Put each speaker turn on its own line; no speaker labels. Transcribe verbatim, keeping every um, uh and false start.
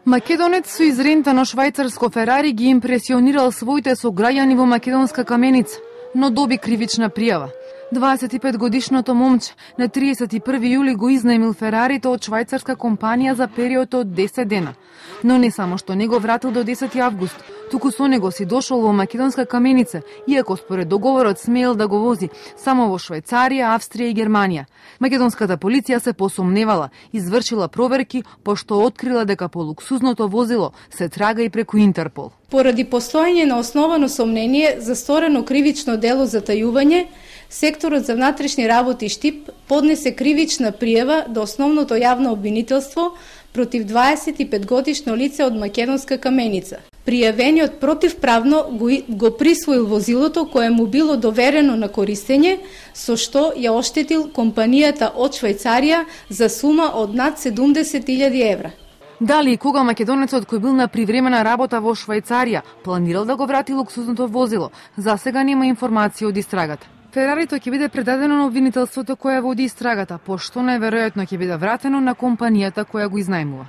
Македонец со изрентано швајцарско Ферари ги импресионирал своите сограѓани во македонска Каменица, но доби кривична пријава. дваесет и пет годишното момче на триесет и први јули го изнаемил Ферарито од швајцарска компанија за период од десет дена. Но не само што не го вратил до десети август, туку со него си дошол во македонска Каменица, иако според договорот смеел да го вози само во Швајцарија, Австрија и Германија. Македонската полиција се посомневала, извршила проверки, пошто открила дека по луксузното возило се трага и преку Интерпол.
Поради постоење на основано сомнение за сторено кривично дело за тајување, секторот за внатрешни работи Штип поднесе кривична пријава до основното јавно обвинителство против дваесет и пет годишно лице од македонска Каменица. Пријавениот противправно го, го присвоил возилото кое му било доверено на користење, со што ја оштетил компанијата од Швајцарија за сума од над седумдесет илјади евра.
Дали и кога македонецот кој бил на привремена работа во Швајцарија планирал да го врати луксузното возило, засега нема информација од истрагата. Ферарито ќе биде предадено на обвинителството која води истрагата, пошто најверојатно ќе биде вратено на компанијата која го изнајмува.